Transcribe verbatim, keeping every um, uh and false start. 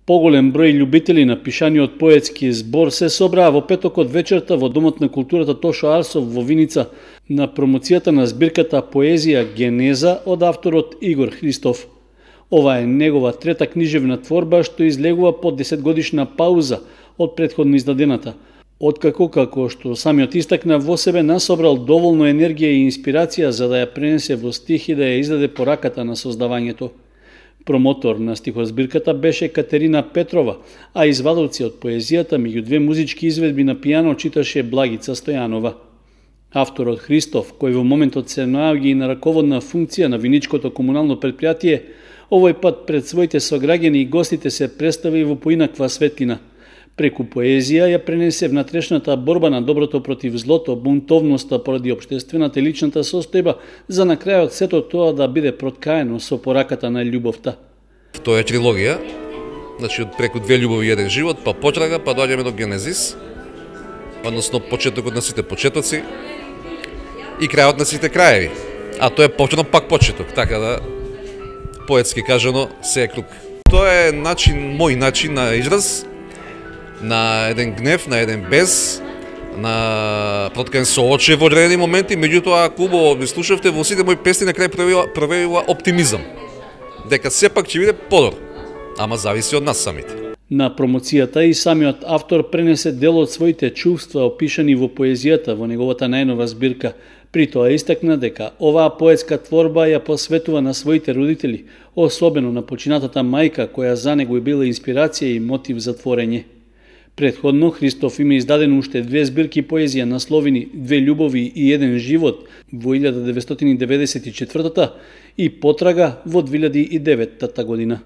Поголем број љубители на пишаниот поетски збор се собраа во петокот вечерта во Домот на културата Тошо Арсов во Виница на промоцијата на збирката Поезија Генеза од авторот Игор Христов. Ова е негова трета книжевна творба што излегува по десетгодишна пауза од претходно издадената, откако, како што самиот истакна, во себе насобрал доволно енергија и инспирација за да ја пренесе во стих и да ја издаде по раката на создавањето. Промотор на стихозбирката беше Катерина Петрова, а извадоци од поезијата меѓу две музички изведби на пијано читаше Благица Стојанова. Авторот Христов, кој во моментот се наоѓа и на раководна функција на виничкото комунално предпријатие, овој пат пред своите сограѓани и гостите се представи во поинаква светлина. Преку поезија ја пренесе внатрешната борба на доброто против злото, бунтовноста поради општествената и личната состојба, за на крајот сето тоа да биде проткаено со пораката на љубовта. Тоа е трилогија, значи од преку две љубови и еден живот, па потрага, па доаѓаме до Генезис, односно почетокот на сите почетоци и крајот на сите краеви. А тоа е повторно пак почеток, така да поетски кажано се е круг. Тоа е начин, мој начин на израз, на еден гнев, на еден без, на проткан со очи во одредени моменти, меѓутоа ако убаво ми слушавте, во сите мои песни на крај проявила оптимизам, дека сепак ќе биде подобро, ама зависи од нас самите. На промоцијата и самиот автор пренесе дел од своите чувства опишани во поезијата во неговата најнова збирка. При тоа истакна дека оваа поетска творба ја посветува на своите родители, особено на починатата мајка која за него е била инспирација и мотив за творење. Предходно Христов има издадено уште две збирки поезија насловени Две љубови и еден живот во илјада деветстотини деведесет и четвртата и Потрага во две илјади и деветта година.